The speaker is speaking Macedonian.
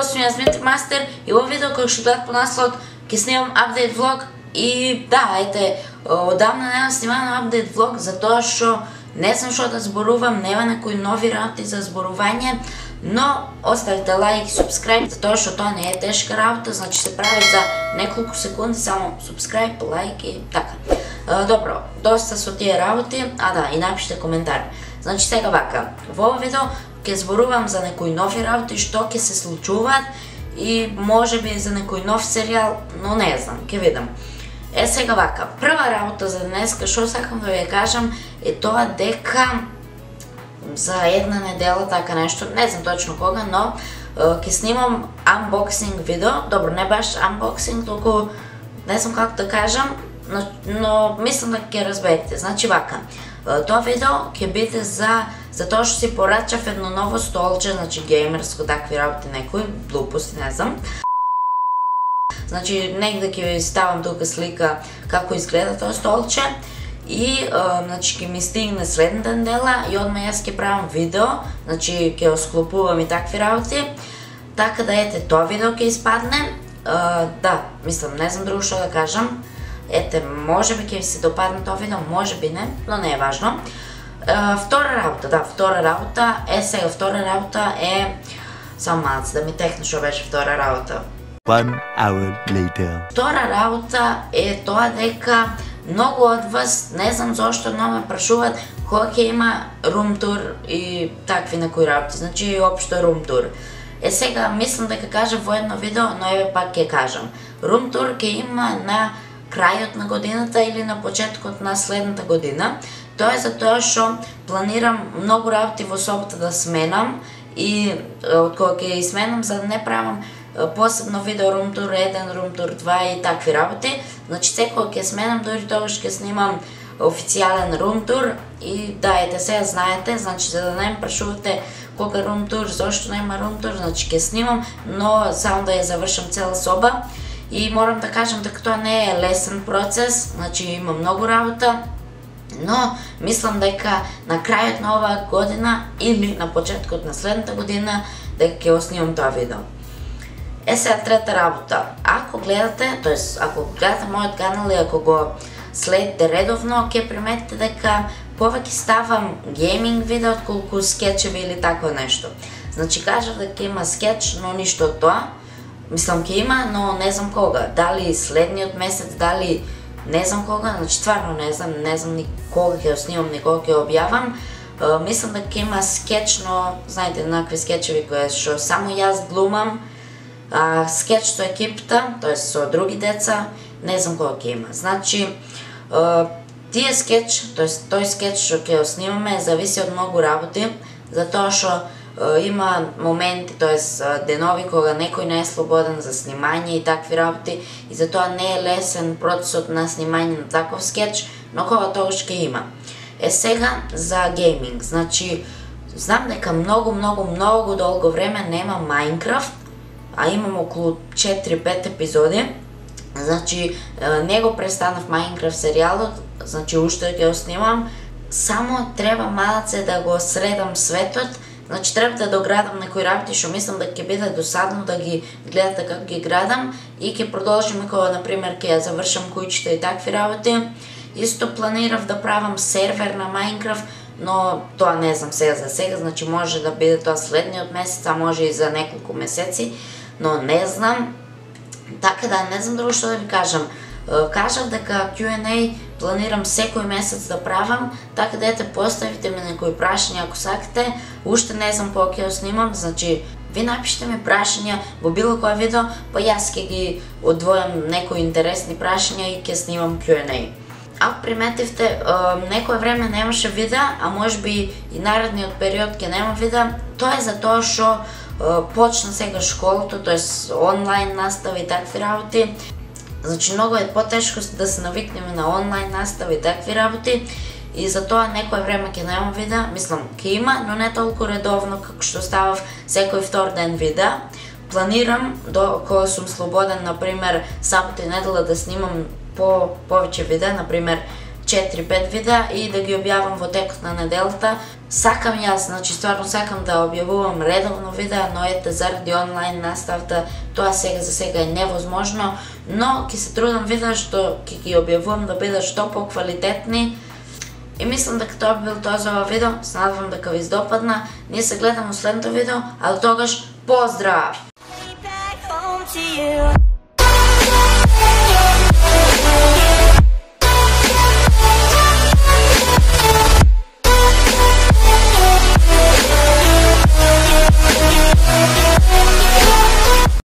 здравейте, аз съм Дмитрий Мастер и во видео кој што гледат по наслов ќе снимам апдейт влог и да, ете, одамна немам снимано апдейт влог затоа што не знам што да зборувам, нема некои нови работи за зборување, но оставите лайк и субскрайб затоа што тоа не е тешка работа, значи се прави за неколку секунди, само субскрайб, лайк и така. Добро, доста со тие работи, да, и напишете коментар. Значи сега вака, во ова видео ќе зборувам за некои нови работи што ќе се случуваат и можеби за некој нов серијал, но не знам, ќе видам. Сега вака, прва работа за денеска што сакам да ви кажам е тоа дека за една недела така нешто, не знам точно кога, но ќе снимам unboxing видео, добро не баш unboxing, толку не знам како да кажам, но мислам да ќе разберете. Значи вака, тоа видео ќе биде за тоа што си порачав едно ново столче, значи геймерско, такви работи некои, глупости, не знам. Значи негде ќе ви ставам тука слика како изгледа тоа столче и значи ќе ми стигне следната недела и одма јас ќе правам видео, значи ќе осклопувам и такви работи. Така да ете, тоа видео ќе испадне. Да, мислам, не знам друго што да кажам. Ете, можеби ќе ви се допадне тоа видео, можеби не, но не е важно. Втора работа, сега втора работа е... Само малце да ми текне што беше втора работа. 1 hour later. Втора работа е тоа дека многу од вас, не знам зошто, но ме прашуваат кога ќе има рум тур и такви некои работи, значи општо рум тур. Сега мислам дека кажам во едно видео, но еве пак ќе кажам. Рум тур ќе има на крајот на годината или на почеткот на следната година. Тоа е затоа што планирам многу работи во собота да сменам и од кога ќе сменам за да не правам посебно видео рум тур 1, рум тур 2 и такви работи. Значи секој ќе сменам, дури тогаш ќе снимам официјален рум тур и да, ете сега знаете, значи за да не ме прашувате кога рум тур, зошто нема рум тур, значи ќе снимам, но само да ја завршам цела соба. И морам да кажам дека тоа не е лесен процес, значи има многу работа, но мислам дека на крајот на оваа година или на почеткот на следната година дека ќе снимам тоа видео. Сега трета работа. Ако гледате мојот канал и ако го следите редовно, ќе приметите дека повеќе ставам гейминг видео отколку скечеви или такво нешто. Значи кажав дека има скеч, но ништо од тоа. Мислам ќе има, но не знам кога. Дали следниот месец, дали не знам кога, значи стварно не знам ни кога ќе го снимам, ни кога ќе го објавам. Мислам дека ќе има скеч, но знаете, накви скечеви кои што само јас глумам, скеч со екипата, тоест со други деца, не знам кога ќе има. Значи, тие скеч, тоест тој скеч што ќе го снимаме зависи од многу работи, затоа што има моменти, тоест денови кога некој не е слободен за снимање и такви работи и затоа не е лесен процесот на снимање на таков скеч, но кога тогаш ќе има. Сега за гейминг, значи знам дека многу долго време нема Minecraft, а имам околу 4-5 епизоди. Значи не го престанав Minecraft серијалот, значи уште ќе го снимам, само треба малце да го средам светот. Значи треба да доградам некои работи што мислам дека ќе биде досадно да ги гледате како ги градам и ќе продолжиме кога например ќе ја завршам куќата и такви работи. Исто планирав да правам сервер на Minecraft, но тоа не знам сега за сега, значи може да биде тоа следниот месец, а може и за неколку месеци, но не знам. Така да, не знам друго што да ви кажам. Кажав дека Q&A планирам секој месец да правам, така да ете поставите ми некои прашања ако сакате. Уште не знам кога ќе го снимам, значи ви напишете ми прашања во било кое видео, па јас ќе ги одвојам некои интересни прашања и ќе снимам Q&A. Ако приметивте, некое време немаше видеа, а можеби и наредниот период ќе нема видеа, тоа е затоа што почна сега школото, тоест онлайн настава и такви работи. Значи многу е потешко да се навикнеме на онлайн настава и такви работи и затоа некое време ќе нема видеа, мислам ќе има, но не толку редовно како што ставав секој втор ден видеа. Планирам до кога сум слободен, например сабота и недела да снимам повеќе видеа, например 4-5 видеа и да ги објавам во текот на неделата. Сакам јас, значи стварно сакам да објавувам редовно видеа, но ете заради онлайн наставта тоа за сега е невозможно, но ќе се трудам видеа што ќе ги објавувам да бидат што поквалитетни. И мислам дека тоа бил тоа за ова видео, се надевам дека ви допадна. Ние се гледаме во следното видео, а до тогаш поздрав!